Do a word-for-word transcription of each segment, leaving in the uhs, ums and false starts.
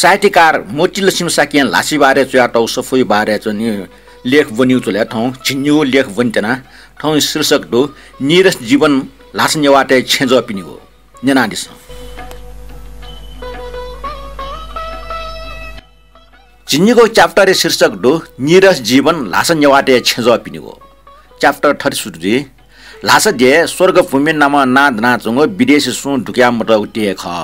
साहित्यकार मोतीलक्ष्मी शाक्यं ल्हासाया बारे च्वयातःगु सफूया बारे च्वनी लेख ब्वनीगु जुलय् थौं झिंनिगू लेख ब्वनेत्यना। थौं शीर्षक दु नीरस जीवन ल्हासा नेवाःतय् छेँजःपिनिगु। न्यनादिसँ। झिंनिगू chapter-या शीर्षक दु नीरस जीवन ल्हासा नेवाःतय् छेँजःपिनिगु। Chapter थथे सुरु जुइ। ल्हासा देय् स्वर्गभूमि नामं नां दनाच्वंगु विदेशी सुं दुकया मतःगु देय् खः।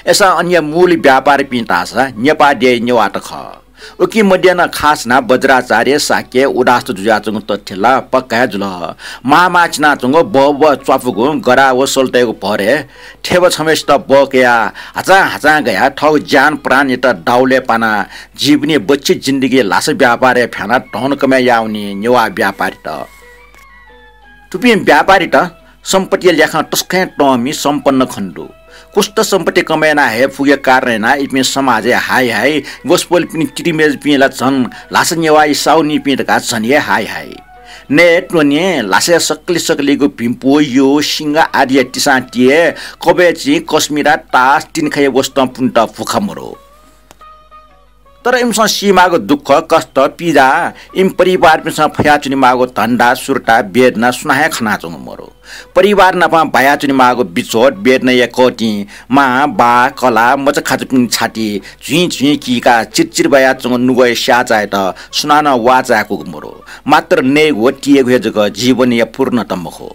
अय्‌सां अनया मूल व्यापारीपिं धाःसा नेपाः देय् नेवाःत खः। उकी मध्ये नं खास यानाः वज्राचार्य, शाक्य, उदास्त जुयाच्वंगु तथ्य ला पक्का हे जुल। माः माः चिनाच्वंगु बहबह च्वापुगु गधा व सल्तय्‌गु भरय् थेबा छम्हय्‌सित बः कयाः हाचां हाचां गयाः थःगु ज्यान प्राणयात दाउलय् पानाः जीवनी बच्छि जिन्दगी ल्हासा व्यापारय् फ्यानाः धन कमय् याःवनी नेवाः व्यापारीत। थुपिं व्यापारीत सम्पत्तिया ल्याखं तसकं हे तःमि सम्पन्न खने दु। कुस्त सम्पत्ति कमय् याना हये फुगुया कारणं यानाः इपिं समाजय् हाइ हाइ, वसपोलपिनि तिरिमय्‌जुपिं ला झन ल्हासा नेवाःया साहुनीपिं धकाः झन हे हाइ हाइ। नये त्वने ल्हासाया सकलें सकलेंगु भिंपु, यु, सिंगा आदिया तिसां तिये, कबय्‌चिं, कस्मिरा, तास, तिनिखाया वसतं पुनेत भुखा मरु। तर इमिसं सीमाःगु दुःख, कष्ट, पीडा, इमि परिवारपिन्सं फयाच्वनेमाःगु धन्दा, सुर्ता, वेदना सुनां हे खनाच्वंगु मरु। परिवार नाप बायाच्वनेमाःगु बिछोड, वेदनाया कःतिं मां, बाः, कलाः, मचाखाचापिनि छाति झुइँ झुइँ कीकाः चिरचिर बायाच्वंगु नुगःया स्याःचायात सुनानं वाः चाय्‌कूगु मरु। मात्र नयेगु व तियेगु हे जक जीवनया पूर्णता मखु।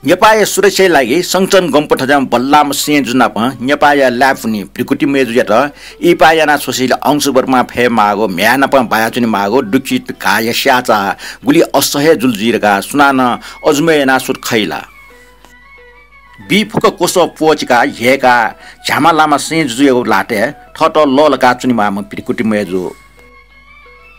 नेपाःया सुरक्षाया लागि संचन गम्पु थज्याःम्ह बल्लाःम्ह सें जु नाप नेपाःया लाय्‌पुनि भृकुटी मय्‌जुयात इहिपाः यानाः छ्वसेंलि अंशुवर्मा फयेमाःगु, म्ह्याय् नाप बायाच्वनेमाःगु दुःखी घाःया स्याःचाः गुलि असह्य जुल जुइ धकाः सुनानं अजूमय् यानाः सुथ खइ ला? बी फुक्क क्वसः प्वःचिकाः ह्यय्‌काः झ्याःम्ह लामा सें जुजुयागु ल्हातय् थःत लःल्हाकाः च्वनेमाःम्ह भृकुटी मय्‌जु।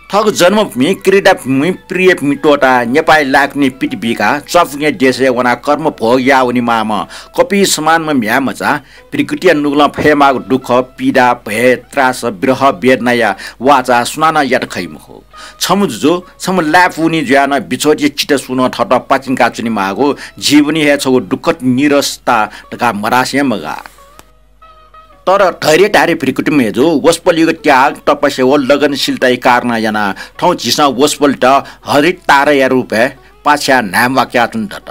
थःगु जन्मभूमि, क्रीडाभूमि, प्रियभूमि त्वःताः नेपाःया लाय्‌कुनि पित बीकाः च्वापुगें देशय् वनाः कर्म भोग याः वनेमाःम्ह कपि समानम्ह म्ह्याय्‌मचा भृकुटीया नुगलं फयेमाःगु दुःख, पीडा, भय, त्रास, विरह, वेदनाया वाःचाः सुनानं यात खइ मखु। छम्ह जुजु, छम्ह लाय्‌पुनि जुयाः नं बिछोडया चिता सुनं थःत पातिंका च्वनेमाःगु जीवनी हे छगू दुःखद नीरसता धकाः मधासे हे मगाः। तर धैर्यधारी भृकुटी मय्‌जु वसपोलयागु त्याग, तपस्या व लगनशीलताया कारणं यानाः थौं झीसं वसपोलयात हरित ताराया रूपय् पाछ्याः न्हाय्‌म्वाकाच्वने दत।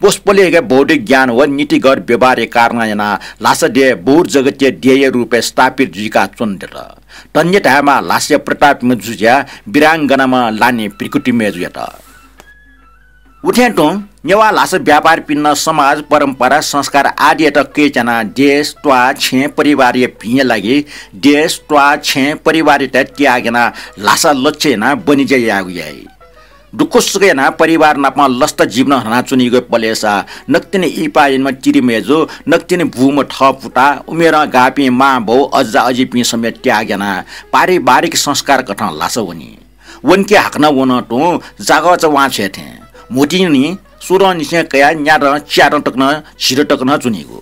वसपोलया हे बौद्धिक ज्ञान व नीतिगत व्यवहारया कारणं यानाः ल्हासा देय् बौद्ध जगतया देय्‌या रूपय् स्थापित जुइकाच्वने दत। धन्य धायेमाः ल्हासाया प्रतापम्ह जुजुया वीरांगनाम्ह लानि भृकुटी मय्‌जुयात। उथें तुं नेवाः ल्हासा व्यापारीपिन्सं समाज, परम्परा, संस्कार आदियात कय्‌च्यानाः देश, त्वाः, छेँ, परिवारया भिंया लागि देश, त्वाः, छेँ, परिवारयात त्याग यानाः ल्हासा लक्ष्य यानाः बनिज्या यायेगु याइ। दुःखसुख यानाः परिवार नाप लसता जीवन हनाच्वनीगु पलेसा नकतिनि इहिपाः यानाम्ह तिरिमय्‌जु, नकतिनि बूम्ह थःपुता, उमेरं गाःपिं मांबौ, अज्जा अजिपिं समेत त्याग यानाः पारिवारिक संस्कार कथं ल्हासा वनी। वंके हाकनं वनं तुं जागःचा वां छ्वये थें। म्हुतुं निं सुरंनिसें कयाः न्यादँ, च्यादँ तक नं, झिदँ तक नं च्वनीगु।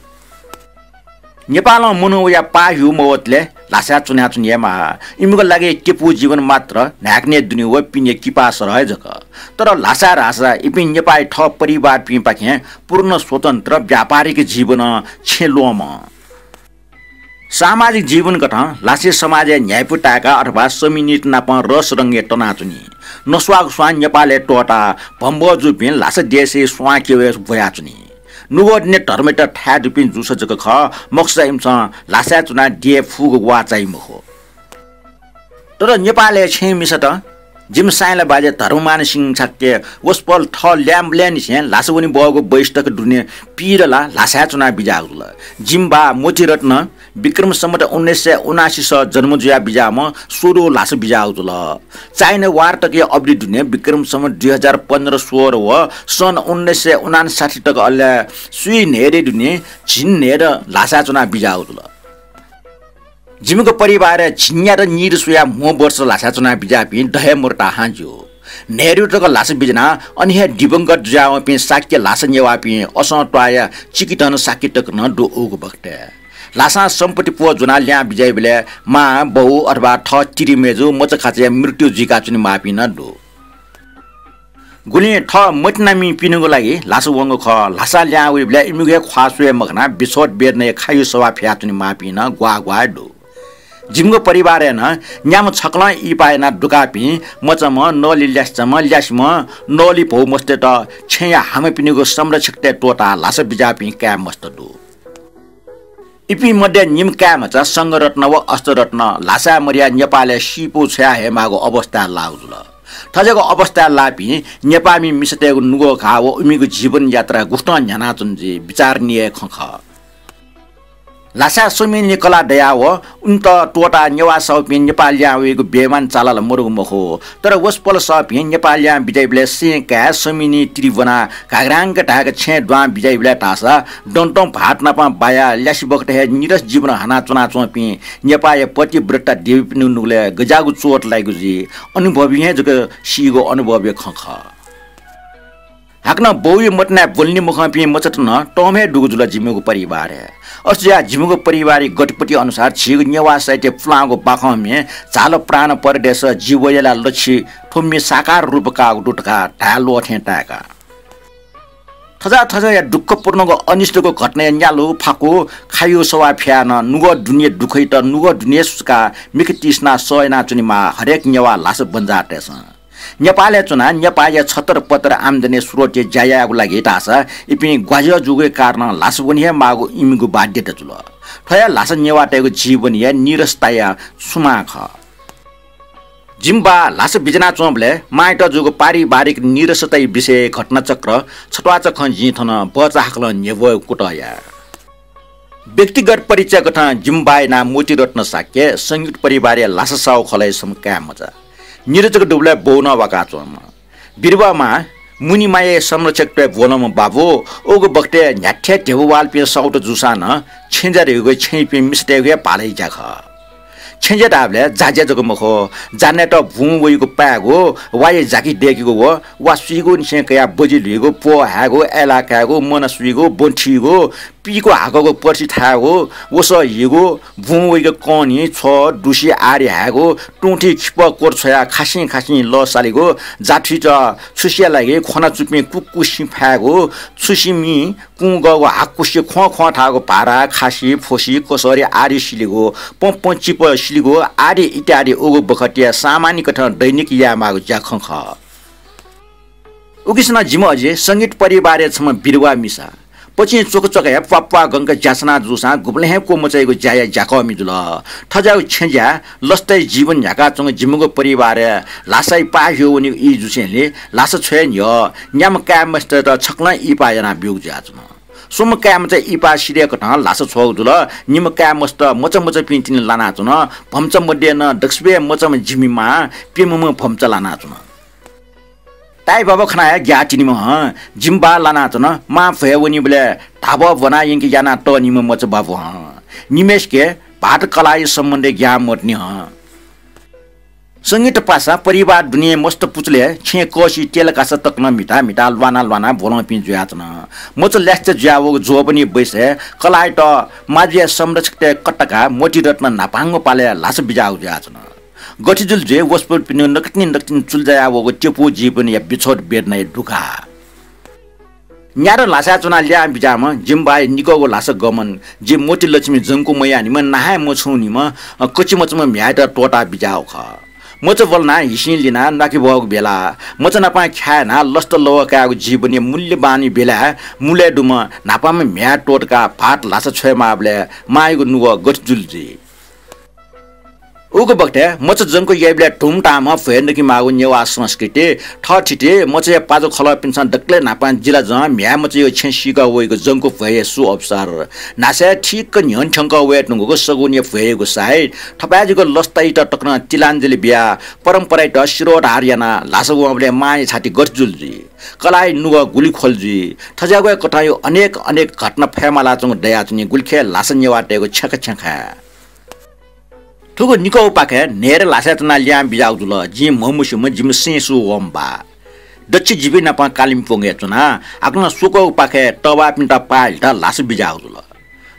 नेपालं मनू वयाः पाः ह्यू मवतले ल्हासाय् च्वनाच्वने हे माः। इमिगु लागि त्यपु जीवन मात्र न्हाय्‌कनय् दुने व पिने किपा सरह हे जक। तर ल्हासाय् धाःसा इपिं नेपाःया थः परिवारपिंपाखें पूर्ण स्वतन्त्र व्यापारिक जीवनं छेँ ल्वःमं। सामाजिक जीवन कथं ल्हासे समाजय् न्ह्याइपु ताय्‌काः अथवा समिनित नाप रस रंगय् तनाच्वनी। नस्वाःगु स्वां नेपालय् त्वःताः भम्बः जूपिं ल्हासा देशय् स्वां क्यबय् ब्वयाच्वनी। नुगः दुने धर्मयात थाय् दुपिं जूसा जक खः, मखुसा इमिसं ल्हासाय् च्वनाः देय् फुगु वाः चाइ मखु। तर नेपालय् छेँ मिसात जिमि साइँला बाज्या धर्ममान सिंह शाक्य वसपोल थः ल्याय्‌म्बलय्‌निसें ल्हासा वने बहःगु बैसतक दुने पीर ला ल्हासाय् च्वनाः बिज्याःगु जुल। जिमि बाः मोतीरत्न विक्रम सम्वत उन्नाइस सय उनासी स जन्म जुयाः बिज्याःम्ह स्वदु ल्हासा बिज्याःगु जुल। चाइना वार तकया अवधि दुने विक्रम सम्वत दुई हजार पन्ध्र सोह्र व सन् उन्नाइस सय उनान्साठी तक अले सुइ न्हय्‌दँय् दुने झिंन्हय्‌दँ ल्हासाय् च्वनाः बिज्याःगु जुल। जिमिगु परिवारय् झिंन्यादँ नीदँ स्वयाः म्हो वर्ष ल्हासाय् च्वनाः बिज्याःपिं द हे मरुताहां ज्यू। न्हय्‌दँ तक ल्हासा बिज्यानाः अन हे दिवंगत जुयावंपिं शाक्य ल्हासा नेवाःपिं असं त्वाःया चिकिधन शाक्य तक नं दु उगु बखतय्। ल्हासां सम्पत्ति प्वः ज्वनाः ल्याहां बिज्याइबलय् मां, बौ अथवा थः तिरिमय्‌जु, मचाखाचाया मृत्यु जुइकाच्वनेमाःपिं नं दु। गुलिं थः मतिनामिपिनिगु लागि ल्हासा वंगु खः। ल्हासां ल्याहां वइबलय् इमिगु हे ख्वाः स्वये मखनाः बिछोड वेदनाया खायु सवाः फियाच्वनेमाःपिं नं ग्वाः ग्वाः दु। जिमिगु परिवारय् नं न्याम्ह छकलं इहिपा यानाः दुकाःपिं मचाम्ह, नली ल्यासेचाम्ह, ल्यासेम्ह, नली भौ मस्तय्त छेँया हामापिनिगु संरक्षकतय् त्वःताः ल्हासा बिज्याःपिं काय् मस्त दु। इपिं मध्ये निम्ह काय् मचा संघरत्न व अष्टरत्न ल्हासाय् मदयाः नेपालय् सीपौ छ्वया हयेमाःगु अवस्थाय् लाःगु जुल। थज्याःगु अवस्थाय् लाःपिं नेपाःमि मिसातय्गु नुगः घाः व इमिगु जीवन यात्रा गुकथं न्ह्यानाच्वन जुइ बिचारणीय खँ खः। ल्हासाय् स्वमिनि कलाः दयाः व उमित त्वःताः नेवाः सःपिं नेपाः लिहां वइगु बेइमान चालाल मदुगु मखु। तर वसपोल सःपिं नेपाः लिहां बिज्याइबलय् सें काय् स्वमिनि तिरि ब्वनाः घाग्रांक धाय्क छेँय् दुहां बिज्याइबलय् धाःसा दँतं भाःत नाप बायाः ल्यासे बखत हे निरस जीवन हानाच्वनाच्वंपिं नेपाःया पतिव्रता देवीपिनिगु नुगलय् गज्याःगु चोट लाइगु जुइ अनुभवं हे जक सीगु अनुभवया खँ खः। हाकनं बौया मतिनाय् ब्वलनि मखंपिं मचात नं तःम्ह हे दुगु जुल जिमिगु परिवारय्। अथे जुयाः जिमिगु परिवारया गतिपति अनुसार झीगु नेवाः साहित्य पुलांगु बाखंम्हे झाल प्राण परदेश, जि वयेला लछि थ्व म्ये साकार रूप काःगु दु धकाः धाये ल्वः थें ताय्का। थज्याः थज्याःया दुःखपूर्णगु अनिष्टगु घटनाया न्यालु, फाकु, खायु सवाः फियाः नं नुगः दुने दुःखयात नुगः दुने सुचुकाः मिखा तिसिनाः सह यानाच्वनेमाः हरेक नेवाः ल्हासा बन्जाःतय्सं। नेपालय् च्वनाः नेपाःया छतरपतर आम्दानी स्रोतया ज्या यायेगु लागि धाःसा इपिं ग्वाज्याः जूगुया कारणं ल्हासा वने हे माःगु इमिगु बाध्यता जुल। थ्व हे ल्हासा नेवाःतय्गु जीवनया निरसताया सुमां खः। जिमि बाः ल्हासा बिज्यानाच्वंबलय् मांयात जूगु पारिवारिक निरसताया विषयय् घटनाचक्र छत्वाःचा खँ जिं थन बचाहाकलं न्ह्यब्वयेगु कुतः याये। व्यक्तिगत परिचय कथं जिमि बाःया नां मोतीरत्न शाक्य, संयुक्त परिवारया ल्हासा साहु खलःया छम्ह काय् मचा। निरजक दुबलय् बौ नं वाकाच्वंम्ह। बिरुवा मां, मुनि मांया संरक्षकत्वय् ब्वलंम्ह बाबु, उगु बखतय् न्ह्याथे ध्यबा वालपिं साहुत जूसां नं छेँज्या धइगु छेँयापिं मिसातय्गु हे भालय् ज्या खः। छेँज्या धाःबलय् जाज्या जक मखु, जानायेत बुँ वइगु पायेगु, वाया जाकि दय्केगु व वा सुइगुनिसें कयाः बजि ल्हुइगु, प्वः हायेगु, अय्लाः कायेगु, मन सुइगु, ब्वँ थीगु, पीकू हाकःगु पर्सि थायेगु, वसः हीगु, बुँ वइगु कनी, छ्वः, दुसि आदि हायेगु, तुंथि खिपः कोट छ्वयाः खासिं खासिं लः सालेगु, जाथुइत छुसिया लागि ख्वनाचुपिं कुक्कुसिं फायेगु, छुसिमि कुंगःगु हाकुसे ख्वं ख्वं थाःगु भारा, खासि, फोसि, कसरी आदि सिलेगु, पंपं चिपः सिलेगु आदि इत्यादि उगु बखतया सामान्य कथं दैनिक यायेमाःगु ज्याखँ खः। उकिसनं जिमि अजि संगीत परिवारया छम्ह बिरुवा मिसा। पचिं च्वकच्वक हे प्वाप्वाः गंक ज्यासना जूसां गुबलें हे क्वमचाइगु ज्याया ज्याकःमि जुल। थज्याःगु छेँज्याय् लसताया जीवन न्ह्याकाच्वंगु जिमिगु परिवारय् ल्हासाया पाः ह्यू वनीगु ई जूसेंलि ल्हासा छ्वये न्ह्यः न्याम्ह काय् मस्तय्त छकलं इहिपाः यानाः ब्यूगु जुयाच्वन। स्वम्ह काय् मचा इहिपाः सिधय् कथं ल्हासा छ्वःगु जुल। निम्ह काय् मस्त मचा मचापिं तिनि लानाच्वन। भम्चा मध्ये नं दक्वसिबय् मचाम्ह जिमि मां प्यम्हम्ह भम्चा लानाच्वन। ताय्बाबा खनाः हे ग्याः तिनिम्ह हं। जिमि बाः लानाच्वन। मां भ्वय् वनीबलय् धाब्वः ब्वना यंके याना तःनिम्ह मचा बाबु हं। निम्हय्सिके भाःत कलाःया सम्बन्धय् ग्याः मदुनि हं। संगीत पासा परिवार दुने मस्त पुचलय् छेँय् कःसि तेलकासा तक नं म्हिता म्हिता ल्वाना ल्वाना ब्वलंपिं जुयाच्वन। मचा ल्यासेचा जुयावःगु जोबनी बैसय् कलाःयात माजुया संरक्षकतय् कतकाः मोतीरत्न न्हापांगु पालय् ल्हासा बिज्याःगु जुयाच्वन। गथे जुल जुइ वसपोलपिनिगु नकतिनि नकतिनि चुलजायावःगु त्यपु जीवनया बिछोड वेदनाया दुघाः। न्यादँ ल्हासाय् च्वनाः लिहां बिज्याःम्ह जिमि बाःया निकःगु ल्हासा गमन, जि मोतीलक्ष्मी जंकु मयाःनिम्ह, नाहाय् मछुंनिम्ह, अ, कचिमचाम्ह म्ह्याय्‌यात त्वःताः बिज्याःगु खः। मचा ब्वलनाः हिसिं लिनाः न्वाके ब्वःगु बेला, मचा नाप ख्याः यानाः लसता लवः कायेगु जीवनया मूल्यवान बेलाय् मुलय् दुम्ह न्हापांम्ह म्ह्याय् त्वःतकाः भाःत ल्हासा छ्वयेमाःबलय् मांयागु नुगः गथे जुल जुइ। उगु बखतय् मचा जंकु याइबलय् धुमधामं भ्वय् नकेमाःगु नेवाः संस्कृति। थःथिति मचाया पाजु खलःपिन्सं दकलय् न्हापां जिलाजं म्ह्याय् मचाया छेँ सीका वइगु जंकु भ्वय्‌या सुअवसर। न्हासय् ठीक न्ह्यःने थ्यंकः वये धुंकूगु सगुनया भ्वय्‌यागु साइत। थपाय्‌जुक लसतायात तकं तिलाञ्जलि बियाः परम्परायात शिरोधार यानाः ल्हासा वंबलय् मांया छाति गथे जुल जुइ? कलाःया नुगः गुलि ख्वल जुइ? थज्याःगु हे कथंया अनेक अनेक घटना फय्‌मालाच्वंगु दयाच्वनी गुलिखे ल्हासा नेवाःतय्‌गु छेँखा छेँखाय्। थुगु निकःपाखे न्हय्‌दँ ल्हासाय् च्वनाः लिहां बिज्याःगु जुल। जिं म्हमस्यूम्ह जिमि सें सू वःम्ह बाः। दच्छि जिपिं नाप कालिम्पोङय् च्वनाः हाकनं स्वक्वःपाखे तःबाःपिन्त पाः हिलेत ल्हासा बिज्याःगु जुल।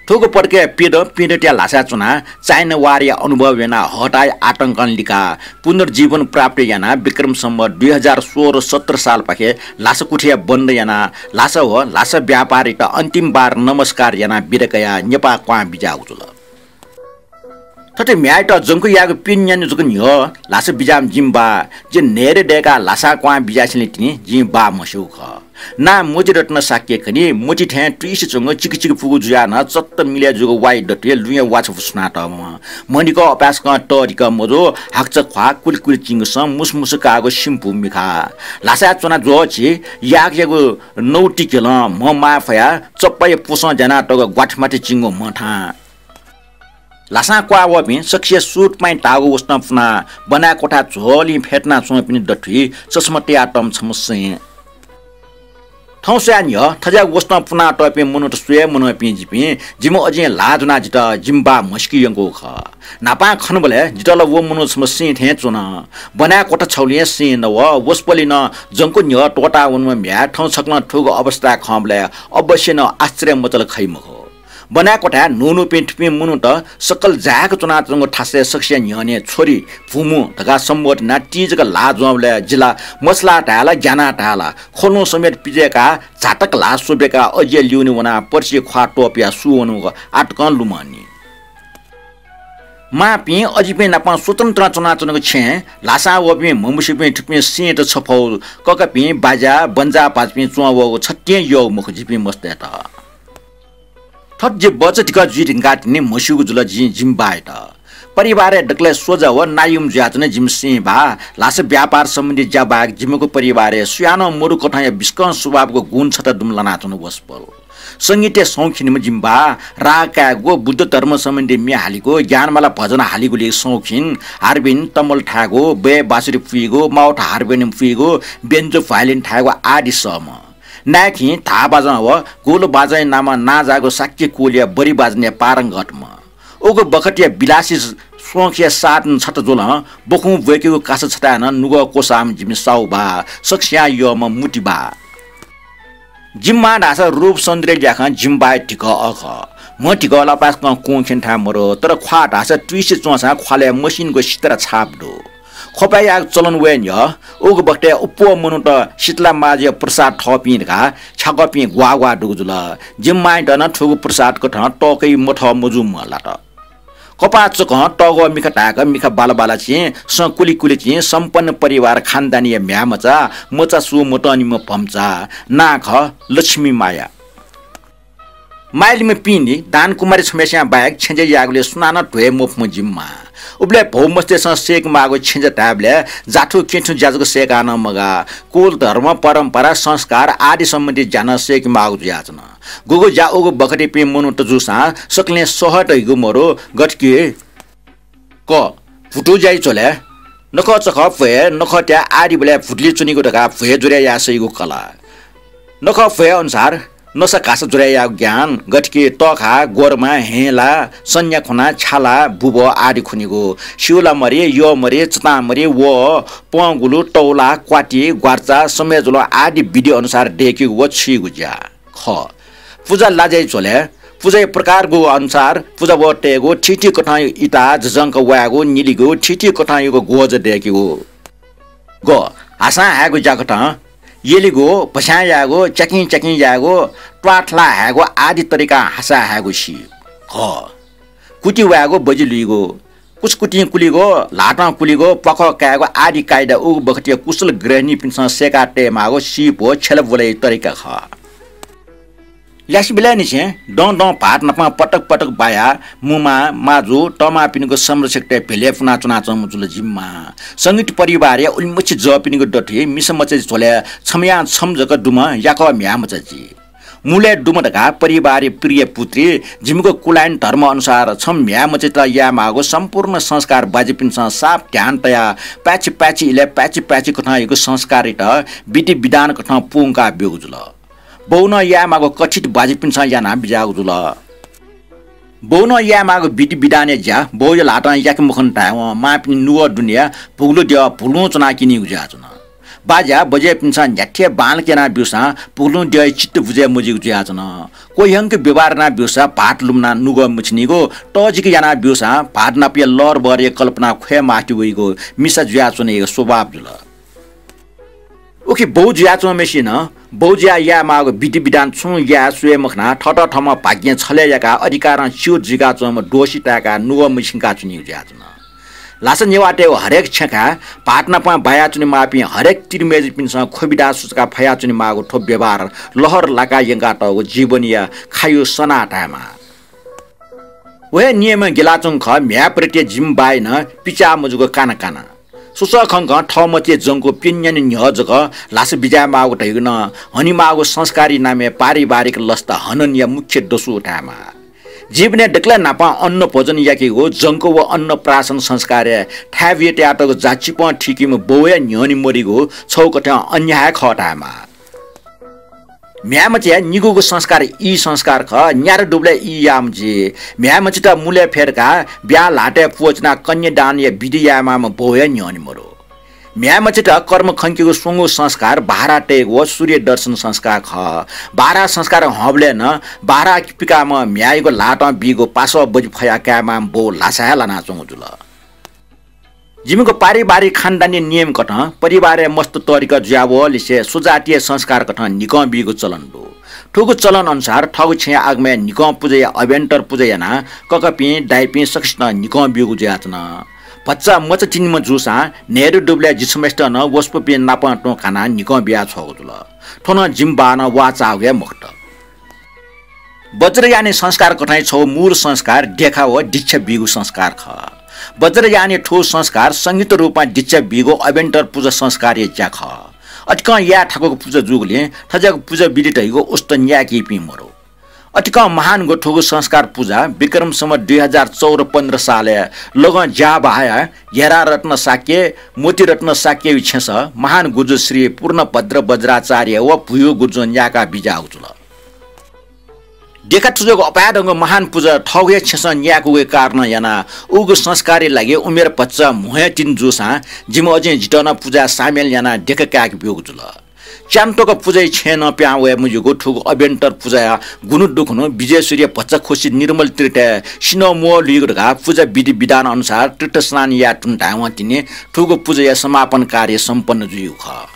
थुगु पटकय् प्यदँ प्यदँतय् ल्हासाय् च्वनाः चाइना वारया अनुभव यानाः हताया आतंकं लिकाः पुनर्जीवन प्राप्त यानाः विक्रम सम्वत् दुई हजार सोह्र सत्र सालपाखे ल्हासा कुथिया बन्द यानाः ल्हासा व ल्हासा व्यापारीत अन्तिम बार नमस्कार यानाः बिदा कयाः नेपाः क्वहां बिज्याःगु जुल। थथे म्ह्याय्‌यात जंक्व यायेगु पिने न्यान्हु जक न्ह्यः ल्हासा बिज्याःम्ह जिमि बाः, जि न्हय्‌दँ दय्‌काः ल्हासां क्वहां बिज्यासेंलि तिनि जिमि बाः म्हस्यूगु खः। नां मोतीरत्न शाक्य खनी, मोती थें तुइसे च्वंगु चिकिचिकि पुगु जुयाः नं चत्त मिलय् जूगु वाइ दथुइ लुँया वाछपु सुनातःम्ह। म्हनिकः अपाय्‌सकं तःधिकः मजू, हाकचा ख्वाः, कुलिकुलि चिंगु सँ, मुसुमुसु काःगु सिम्पु मिखा। ल्हासाय् च्वना ज्वःछि याकयागु नौतिकेलं म्ह माय् फयाः चप्पाया पुसं ज्यानातःगु ग्वाथेमाथे चिंगु म्ह थां। ल्हासां क्वहां वःपिं सकसिया सुट पाइँ धाःगु वसतं पुनाः ब्वनाय् क्वथाय् झ्वलिं फ्यतुना च्वंपिनि दथुइ चस्मा तयातःम्ह छम्ह सें। थौं स्वयाः न्ह्यः थज्याःगु वसतं पुनातःपिं मनूत स्वये मनूपिं जिपिं, जिमि अजिं ल्हाः ज्वनाः जितः जिमि बाः म्हसीके यंकूगु खः। न्हापां खनाबलय् जितः ला व मनू छम्ह सें थें च्वन। ब्वनाय् क्वथा छगुलिं सें नव, वसपोलि नं जंक्व न्ह्यः त्वःताः वनाम्ह म्ह्याय् थौं छकलं थुगु अवस्थाय् खंबलय् अवश्य नं आश्चर्य मचाल खइ मखु। ब्वनाय् क्वथाय् न्हून्हूपिं थुपिं मनूत सकल जाय्‌क च्वनाच्वंगु थासय् सकसिया न्ह्यःने छोरी, भुमु धकाः सम्बोधन यानाः ति जक ल्हाः ज्वंबलय् जि ला मछालाः धाये ला, ग्यानाः धाये ला, ख्वलुं समेत पिज्वय्‌काः झातक ल्हाः स्वब्वय्‌काः अजिया ल्यूने वनाः पर्सिया ख्वाः त्वपुयाः सू वनागु आः तकं लुमंनि। मांपिं अजिपिं नाप स्वतन्त्रं च्वनाच्वनागु छेँय् ल्हासां वःपिं म्हमस्यूपिं थुपिं सेंत छफः ककापिं, बाज्या, बन्जाः भाजुपिं च्वं वःगु छतिं यःगु मखु जिपिं मस्तय्‌त। थथे जि बच्चा धिकः जुइ धुंकाः तिनि म्हस्यूगु जुल जिं जिमि बाःयात। परिवारय् दकलय् सोझा व नायुम जुयाच्वन जिमि सें बाः। ल्हासा व्यापार सम्बन्धी ज्या बाहेक जिमिगु परिवारय् सुयानं मरु कथंया बिस्कं स्वभावगु गुण छता दुम्ह लानाच्वन वसपोल। संगीतय् शौखिनम्ह जिमि बाः। राग कायेगु, बुद्ध धर्म सम्बन्धी म्ये हालेगु, ज्ञानमाला भजन हालेगुलिइ शौखिन, हार्मोनियम, तमल थायेगु, बय् बाँसुरी पुइगु, माउथ हार्मोनियम पुइगु, बेन्जो भायोलिन थायेगु आदि सःम्ह। नाय्‌खिं धाः बाजं व गुल बाजंया नामं नांजाःगु शाक्य कुलया बरि बाजनय् पारंगतम्ह। उगु बखतया विलासी शौखया साधन छता जुलं बखुं ब्वय्‌केगु कासा छताय् नं नुगः क्वसाःम्ह जिमि साहु बाः, सकसियां यःम्ह मुति बाः। जिमि मां धाःसा रूप सौन्दर्य ल्याखं जिमि बाःया धिकः अः खः। म्ह धिकः ला अपाय्‌सकं कुंखिने थाय् मरु, तर ख्वाः धाःसा तुइसे च्वंसां ख्वालय् मसिनिगु सितारा छाप दु। ख्वपाय् यायेगु चलन वये न्ह्यः उगु बखतय् अप्वः मनूत शीतला माजुया प्रसाद थःपिं धकाः छ्याकःपिं ग्वाः ग्वाः दुगु जुल। जिमि मांयात नं थुगु प्रसाद कथं तःकइ मथः मजूम्ह लात। कपाः चकं तःग्वः मिखा धाय्‌क मिखा बाला बाला चिं, सँ कुलि कुलि चिं, सम्पन्न परिवार खानदानीया म्ह्याय्‌मचा, मचा सू मतंनिम्ह भम्चा, नां खः लक्ष्मी माया। माय्‌लिम्ह पिने दानकुमारी छम्हस्यां बाहेक छेँज्या यायेगुलिइ सुनानं ध्वये मफुम्ह जिमि मां। उबलय् भौमस्तय्‌सं सय्‌के माःगु छेँज्या धायेबलय् जाथु केथु ज्या जक सय्‌काः नं मगाः, कुल धर्म, परम्परा, संस्कार आदि सम्बन्धी ज्या नं सय्‌के माःगु जुयाच्वन। गुगु ज्या उगु बखतयापिं मनूत जूसां सकलें सह धइगु मरु, गथेकि क, भुतु ज्याइ झ्वलय् नखःचखः भ्वय्, नखःत्याः आदिबलय् भुतुलि च्वनीगु धकाः भ्वय् ज्वरय् याये सइगु कला। नखः भ्वय् अनुसार नसा घासा ज्वरय् यायेगु ज्ञान, गथेकि तःखा, ग्वरमा, हेंला, सन्या खुना, छ्याला, बुबः आदि खुनीगु, स्यूलामरि, यःमरि, चतांमरि, वः, पंगुलु, तौला, क्वाति, ग्वार्चा, समय जुलं आदि विधि अनुसार दय्‌केगु व छुइगु ज्या। ख, पुजा लाज्याइ झ्वलय् पुजाया प्रकारगु अनुसार पुजा वः तयेगु, थीथी कथं इता जजंक वायेगु, निलिगु, थीथी कथंयागु ग्वज दय्‌केगु। ग, हासां हायेगु ज्याकथं यलिगु, भस्यां यायेगु, च्याकिं च्याकिं यायेगु, त्वाथला हायेगु आदि तरिकां हासा हायेगु सी। घ, कुति वायेगु, बजि लुइगु, कुचकुतिं कुलिगु, ल्हातं कुलिगु, प्वाखः कायेगु आदि कायदा उगु बखतया कुशल गृहिणीपिन्सं सय्‌का तयेमाःगु सीप व छ्यला ब्वलय् तरिका खः। ल्यासेबलय्‌निसें दँ दँ भात नाप पटक पटक बायाः मुमा, माजु, तःमापिनिगु संरक्षकतय् भेलय् पुनाच्वनाच्वंम्ह जुल जिमि मां। संगीत परिवारया उलिमछि जःपिनिगु दथुइ मिसा मचा झ्वलय् छम्हयां छम्ह जक दुम्ह याकः म्ह्याय्‌मचा जि। मुलय् दुम्ह धकाः परिवारया प्रिय पुत्री, जिमिगु कुलायन धर्म अनुसार छम्ह म्ह्याय्‌मचायात यायेमाःगु सम्पूर्ण संस्कार बाज्यापिन्सं साप ध्यान तयाः पाय्‌छि पाय्‌छि इलय् पाय्‌छि पाय्‌छि कथंयागु संस्कारयात विधि विधान कथं पूवंका ब्यूगु जुल। बौनं यायेमाःगु कथित बाज्यापिन्सं यानाः बिज्याःगु जुल। बौनं यायेमाःगु विधि विधानया ज्या बौया ल्हातं याके मखन धायेवं मांपिनि नुगः दुनेया भुगुलु द्यः भुलुं च्वनाः क्यनीगु जुयाच्वन। बाज्या बज्यापिन्सं न्ह्याथे बांलाक यानाः ब्यूसां भुगुलुं द्यःया चित्त बुझे मजुइगु जुयाच्वन। क्वह्यंक व्यवहार यानाः ब्यूसा भाःत लुमनाः नुगः मछिनीगु, तःजिक यानाः ब्यूसां भाःत नापया लहरबहरया कल्पना ख्वये मास्ति वइगु मिसा जुयाच्वनेया स्वभाव जुल। उखे बौ जुयाच्वंम्हय्‌सिनं बौज्या यायेमाःगु विधि विधान छुं याये स्वये मखनाः थःत थःम्हं भाग्यं छलय् याकाः अधिकारं च्युत जुइकाच्वंम्ह दोषी ताय्काः नुगः मछिंकाच्वनीगु जुयाच्वन। ल्हासा नेवाःतय्गु हरेक छेँखाय् भाःत नाप बायाच्वनेमाःपिं हरेक तिरिमय्जुपिन्सं ख्वबिदा सुचुका फयाच्वनेमाःगु थ्व व्यवहार लहर लाकाः यंकातःगु जीवनया खायु सनाः धायेमाः। व हे नियमं ग्यलाच्वंगु खः, म्ह्याय् प्रति जिमि बाय् नं पिचाः मजूगु काना काना। सुसः खंकं थः मतिइ जंकूगु प्यन्हु न्यान्हु न्ह्यः जक ल्हासा बिज्यायेमाःगु धइगु नं हनेमाःगु संस्कारी नामय् पारिवारिक लसता हननया मुख्य दसु धायेमाः। जीवनय् दकलय् न्हापां अन्न भोजन याकेगु जंक व अन्नप्राशन संस्कारय् थाय् बिये तयातःगु जाचिपं थीकीम्ह बौया न्ह्यःने मदीगु छगू कथं अन्याय खः धायेमाः। म्ह्याय् मचाया निगूगु संस्कार ई संस्कार खः, न्यादँ दुबलय् ई याःम्ह जुइ। म्ह्याय् मचात मुलय् फ्यतुकाः ब्याहा ल्हातय् प्वःचिनाः कन्यादानया विधि यायेमाःम्ह बौया न्ह्यःने मदु। म्ह्याय् मचात कर्म खंकेगु स्वंगू संस्कार बाह्रा तयेगु व सूर्य दर्शन संस्कार खः। बाह्रा संस्कार हंबलय् नं बाह्रा पिकाःम्ह म्ह्याय्‌यागु ल्हातं बीगु पासः बजि फयाः कायेमाःम्ह बौ ल्हासा हे लानाच्वंगु जुल। जिमिगु पारिवारिक खानदानी नियम कथं परिवारय् मस्त तःधिकः जुयावःलिसे स्वजातीय संस्कार कथं न्हिकं बीगु चलन दु। थुगु चलन अनुसार थःगु छेँया आगमय् न्हिकं पुजाया अभ्यन्तर पुजा यानाः ककापिं, दाइपिं सकसितं न्हिकं ब्यूगु जुयाच्वन। भचा मचा तिनिम्ह जूसां न्हय्दँ दुबलय् जिछम्हसित नं वसपोपिं नाप तुं कानाः न्हिकं बियाछ्वःगु जुल। थ्व नं जिमि बाःनं वाःचाःगु हे मखुत। वज्रयानी संस्कार कथं छगू मूल संस्कार देखा व दीक्षा बीगु संस्कार खः। वज्रयानी थ्व संस्कार संहित रूपं दीक्षा बीगु अभ्यन्तर पुजा संस्कारया ज्या खः। अतिकं याये थाकुगु पुजा जूगुलिं थज्याःगु पुजा विधि धइगु उस्त न्याय्‌कीपिं मदु। अतिकं महान ग्व थुगु संस्कार पुजा विक्रम सम्वत दुई हजार चौध पन्ध्र सालय् लगं ज्याबहाया घेरारत्न शाक्य, मोतीरत्न शाक्यया छेँसः महान गुजु श्री पूर्णभद्र वज्राचार्य व भुयु गुजुं न्याय्‌का बिज्याःगु जुल। देखा थुज्याःगु अपाय्‌धंगु महान पुजा थःगु हे छेँसं न्याय्‌कूगु कारणं यानाः उगु संस्कारया लागि उमेर भचा म्हो हे तिनि जूसां जिमि अजिं जितः नं पुजाय् सामेल यानाः देखा काय्‌के ब्यूगु जुल। च्यान्त्वक पुजाया छेँय् नं पिहां वये मज्यूगु थुगु अभ्यन्तर पुजाया गुन्हु दुखुन्हु विजय सूर्य भचा खुसि निर्मल तीर्थय् सिन्हः म्वः लुइगु धकाः पुजा विधि विधान अनुसार तीर्थ स्नान याये धुन धायेवं तिनि थुगु पुजाया समापन कार्य सम्पन्न जुइगु खः।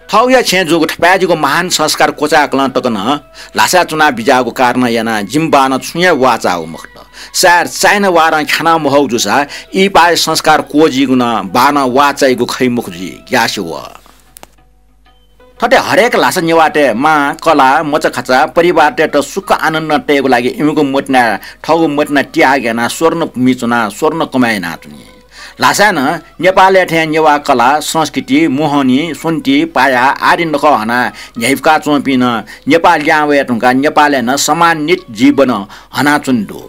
थःगुया छेँय् जूगु थपाय्‌जिगु महान संस्कार क्वचाय्‌कलं तक नं ल्हासाय् च्वना बिज्याःगु कारणं यानाः जिमि बाःनं छुं हे वाःचाःगु मखुत। सायद चाइना वारं ख्याना महःगु जूसा इहिपाया संस्कार क्वःजीगु नं बाःनं वाःचाइगु खइ मखु जुइ, ग्यासे वः। थथे हरेक ल्हासा नेवाःतय् मां, कलाः, मचाखाचा, परिवारतय्‌त सुख आनन्द तयेगु लागि इमिगु मतिनाय् थःगु मतिना त्याग यानाः स्वर्ण भूमि च्वनाः स्वर्ण कमाय् यानाच्वनी। ल्हासाय् नं नेपालय् थें नेवाः कला, संस्कृति, मोहनी, स्वन्ति, पाया आदि नखः हनाः न्ह्याइपुका च्वंपिं नं नेपाः लिहां वये धुंकाः नेपालय् नं सम्मानित जीवन हनाच्वने दु।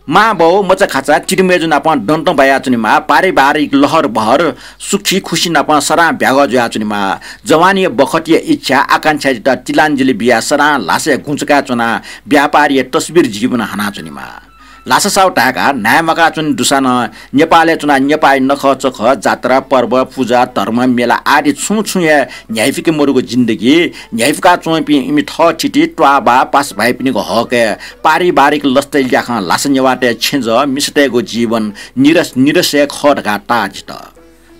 मां बौ, मचाखाचा, तिरिमय्जु नाप दंतं बायाच्वनेमाः, पारिवारिक लहर बहर सुखी खुसी नाप सदां ब्यागः जुयाच्वनेमाः। जवानया बखतया इच्छा आकांक्षायात तिलाञ्जली बियाः सदां ल्हासय् गुँचकाय् च्वनाः व्यापारया तस्बिर जीवन हनाच्वनेमाः। ल्हासा साहु धाय्‌काः न्हाय् म्वाकाच्वने दुसा नं नेपालय् च्वनाः नेपाःया नखःचखः, जात्रा, पर्व, पुजा, धर्म, मेला आदि छुं छुं हे न्ह्याइपुके मदुगु जिन्दगी न्ह्याइपुका च्वंपिं इमि थःथिति, त्वाःबाः, पासाभाइपिनिगु हकय् पारिवारिक लसताया ल्याखं ल्हासा नेवाःतय् छेँजः मिसातय्‌गु जीवन निरस निरस हे खः धकाः ताः जित।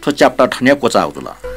थ्व chapter थन हे क्वचाःगु जुल।